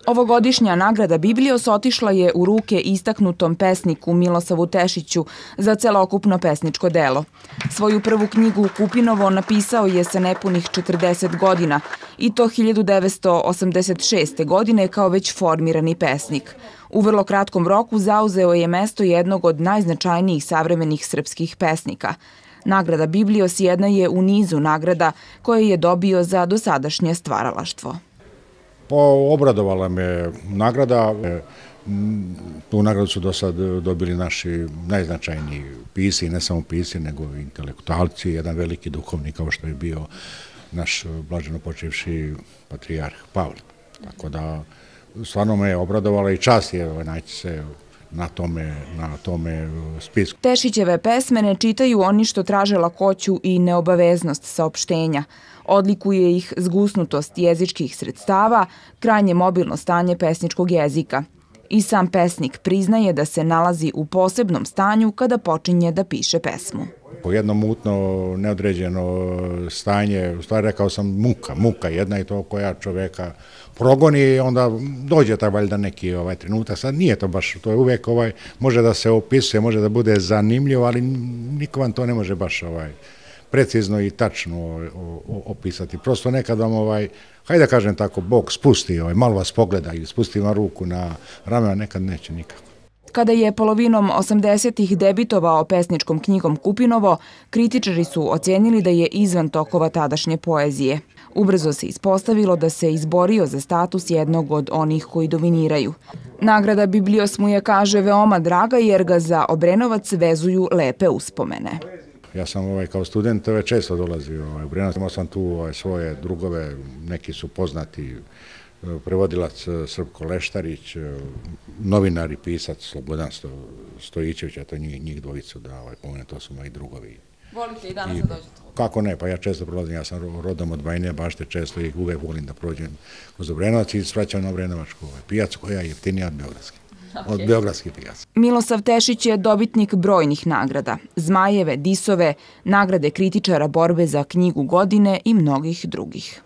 Ovogodišnja nagrada Biblios otišla je u ruke istaknutom pesniku Milosavu Tešiću za celokupno pesničko delo. Svoju prvu knjigu Kupinovo napisao je sa nepunih 40 godina i to 1986. godine kao već formirani pesnik. U vrlo kratkom roku zauzeo je mesto jednog od najznačajnijih savremenih srpskih pesnika. Nagrada Biblios jedna je u nizu nagrada koje je dobio za dosadašnje stvaralaštvo. Obradovala me nagrada. Tu nagradu su do sad dobili naši najznačajniji pisci, ne samo pisci, nego i intelektualci, jedan veliki duhovnik kao što je bio naš blaženo počivši patrijarh Pavle. Tako da stvarno me je obradovala i čast je naći se na tome spisku. Tešićeve pesme ne čitaju oni što traže lakoću i neobaveznost saopštenja. Odlikuje ih zgusnutost jezičkih sredstava, krajnje mobilno stanje pesničkog jezika. I sam pesnik priznaje da se nalazi u posebnom stanju kada počinje da piše pesmu. Jedno mutno, neodređeno stanje, u stvari rekao sam muka jedna i to koja čoveka progoni i onda dođe taj valjda neki trenutak. Sad nije to baš, to je uvijek može da se opisuje, može da bude zanimljivo, ali niko vam to ne može baš precizno i tačno opisati. Prosto nekad vam, hajde da kažem tako, Bog spusti, malo vas pogleda i spusti vam ruku na ramena, nekad neće nikako. Kada je polovinom 80-ih debitovao pesničkom knjigom Kupinovo, kritičari su ocjenili da je izvan tokova tadašnje poezije. Ubrzo se ispostavilo da se izborio za status jednog od onih koji dominiraju. Nagrada Biblios mu je, kaže, veoma draga jer ga za Obrenovac vezuju lepe uspomene. Ja sam kao student često dolazio u Obrenovac, imao sam tu svoje drugove, neki su poznati, prevodilac Srpko Leštarić, novinar i pisac Slobodan Stojićević, a to njih dvojicu da pomenem, to su moji drugovi. Volite i danas da dođete? Kako ne, pa ja često prolazim, ja sam rodom od Bajine Bašte, često ih uvek volim da prođem kroz Obrenovac i svraćam na Obrenovačku pijacu koja je jeftinija od Beogradske. Od beogradskih pijaca. Milosav Tešić je dobitnik brojnih nagrada, Zmajeve, Disove, nagrade kritičara borbe za knjigu godine i mnogih drugih.